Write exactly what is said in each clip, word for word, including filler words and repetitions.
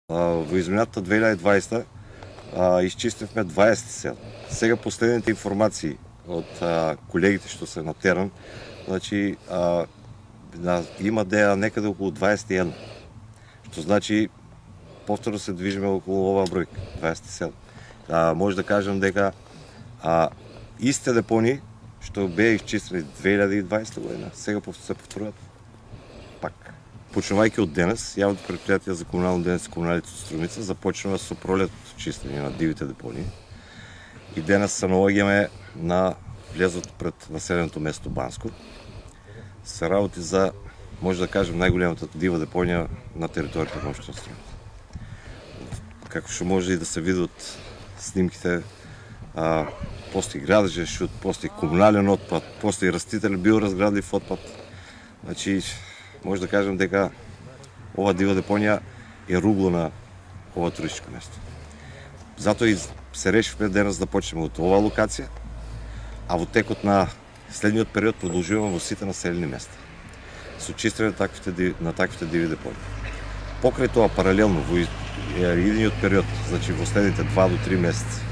Во измината две илјади и дваесета исчистивме дваесет села. Сега последните информации од колегите што се на терен, значи а, има деја некаде околу дваесет и едно. Што значи повторно се движиме околу оваа бројка, дваесет села. А, може да кажам дека а, истите депони што беа исчистени две илјади и дваесета година, сега се повторуваат пак. Почнувајќи од денес, јавното предпријатие за комунално денес и комуналите од Струмица започнува со пролетното чистење на дивите депонии. И денес се наоѓаме на влезот пред населеното место Банско. Се работи за, може да кажем, најголемата дива депонија на територијата на општина Струмица. Како што може и да се види од снимките, а, постои градежен шут, постои комунален отпад, постои растителен биоразградлив отпад. Значи, може да кажем дека ова дива депонија е ругло на ова туристичко место. Затоа и се решивме денес да почнеме од оваа локација, а во текот на следниот период продолжуваме во сите населени места со чистење на таквите, на таквите диви депонии. Покрај тоа, паралелно, во идниот период, значи во следните два до три месеци,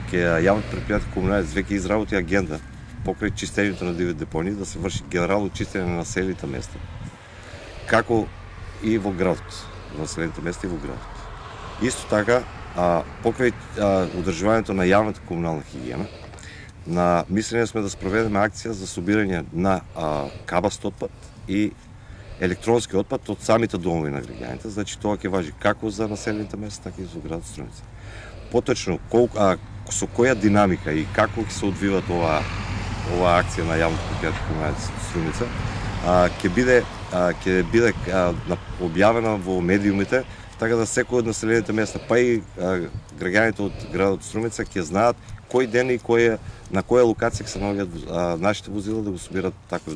ќе јавното предпријатие комуналец веќе изработи агенда покрај чистењето на диви депонии да се врши генерално чистење на населените места, како и во градот, во населените места и во градот. Исто така, а, покрај а, одржувањето на јавната комунална хигиена, на мислење сме да спроведеме акција за собирање на а, кабаст отпад и електронски отпад од самите домови на граѓаните, значи тоа ќе важи како за населените места, така и за градот Струмица. Поточно, колку, а, со која динамика и како ќе се одвиват ова, ова акција на јавното предпријатие комуналец Струмица, ќе биде ќе биде објавена во медиумите, така да секој од населените места, па и граѓаните од градот Струмица ќе знаат кој ден и кој, на која локација ќе се наоѓаат нашите возила да го собират таков